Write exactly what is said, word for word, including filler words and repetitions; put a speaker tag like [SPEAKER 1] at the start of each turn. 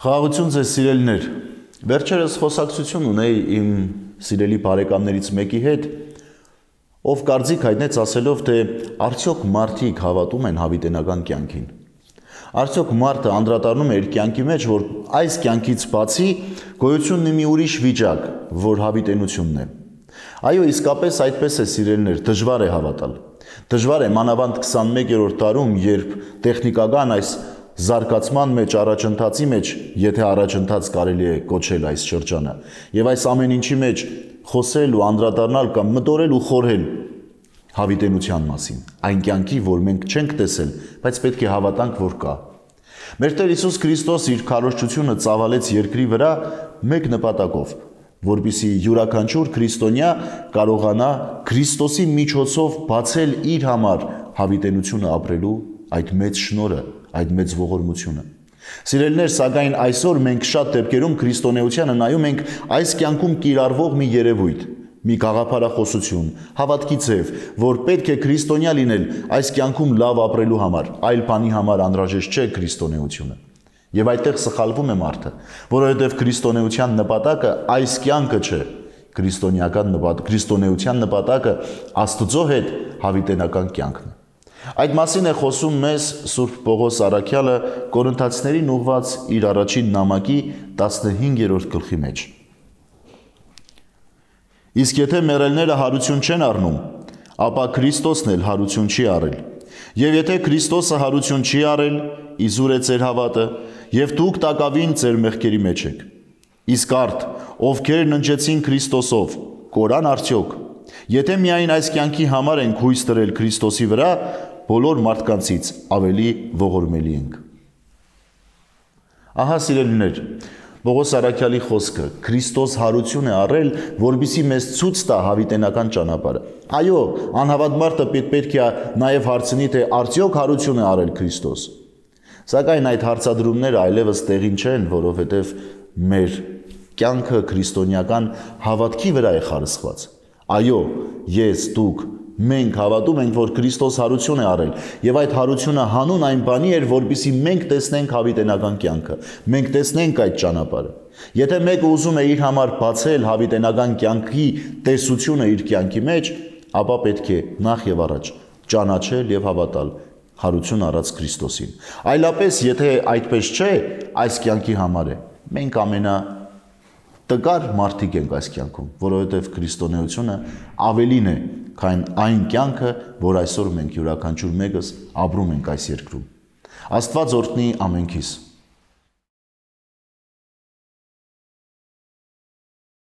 [SPEAKER 1] Խաղաղություն ձեզ սիրելիներ, վերջերս խոսակցություն ունեի իմ սիրելի բարեկամներից մեկի հետ, ով կարծիք հայտնեց ասելով, թե արդյոք մարդիկ հավատում են հավիտենական կյանքին։ Արդյոք մարդը անդրադառնում է իր կյանքի մեջ, որ այս կյանքից բացի գոյություն ունի մի ուրիշ վիճակ, որ հավիտենությունն է։ Այո, իսկապես այդպես է սիրելիներ, դժվար է հավատալ։ Դժվար է մանավանդ քսանմեկերորդ դարում, երբ տեխնիկական այս զարգացման մեջ, առաջընթացի մեջ, եթե առաջընթաց կարելի է կոչել այս շրջանը, եւ այս ամեն ինչի մեջ խոսել ու անդրադառնալ կամ մտորել ու խորհել հավիտենության մասին, այն կյանքի, որ մենք չենք տեսել, բայց պետք է հավատանք, որ կա։ Մեր Տեր Հիսուս Քրիստոս իր քարոզչությունը ծավալեց երկրի վրա մեկ նպատակով, որպեսզի յուրաքանչյուր քրիստոնյա կարողանա Քրիստոսի միջոցով բացել իր համար հավիտենությունը ապրելու այդ մեծ շնորհը, այդ մեծ ողորմությունը։ Սիրելիներ, սակայն այսօր մենք շատ դեպքերում քրիստոնեությանը նայում ենք այս կյանքում կիրառվող մի երևույթ, մի գաղափարախոսություն, հավատքի ձև, որ պետք է քրիստոնյա լինել այս կյանքում լավ ապրելու համար, այլ բանի համար անհրաժեշտ չէ քրիստոնեությունը։ Եվ այդտեղ սխալվում է մարդը, որովհետև քրիստոնեության նպատակը այս կյանքը չէ, քրիստոնեական նպատակը, քրիստոնեության նպատակը Աստծո հետ հավիտենական կյանքն է։ Այդ մասին է խոսում մեզ Սուրբ Պողոս Առաքյալը Կորինթացիներին ուղված իր առաջին նամակի տասնհինգերորդ գլխի մեջ։ Իսկ եթե մեռելները հարություն չեն առնում, ապա Քրիստոսն էլ հարություն չի առել։ Եվ եթե Քրիստոսը հարություն չի առել, իզուր է ձեր հավատը, եւ դուք տակավին ձեր մեղքերի մեջ եք։ Իսկ արդ, ովքեր ննջեցին Քրիստոսով, կորան արդյոք։ Եթե միայն այս կյանքի համար ենք հույս դրել Քրիստոսի վրա, բոլոր մարդկանցից ավելի ողորմելի ենք։ Ահա սիրելիներ, Պողոս Առաքյալի խոսքը, Քրիստոս հարություն է առել, որպեսզի մեզ ցույց տա հավիտենական ճանապարհը։ Այո, անհավատ մարդը պետք է նաև հարցնի, թե արդյոք հարություն է առել Քրիստոս։ Սակայն այդ հարցադրումները այլևս տեղին չեն, որովհետև մեր կյանքը քրիստոնեական հավատքի վրա է խարսխված։ Այո, ես, դուք, մենք հավատում ենք, որ Քրիստոս հարություն է առել, եւ այդ հարությունը հանուն այն բանի էր, որպեսզի մենք տեսնենք հավիտենական կյանքը, մենք տեսնենք այդ ճանապարհը։ Եթե մեկը ուզում է իր համար բացել հավիտենական կյանքի տեսությունը իր կյանքի մեջ, ապա պետք է նախ եւ առաջ ճանաչել եւ հավատալ հարություն առած Քրիստոսին։ Այլապես, եթե այդպես չէ, այս կյանքի համար է, մենք ամենա տկար մարդիկ ենք այս կյանքում, որովհետև քրիստոնեությունը ավելին է, քան այն կյանքը, որ այսօր մենք յուրաքանչյուր մեկս ապրում ենք այս երկրում։ Աստված օրհնի ամենքիս։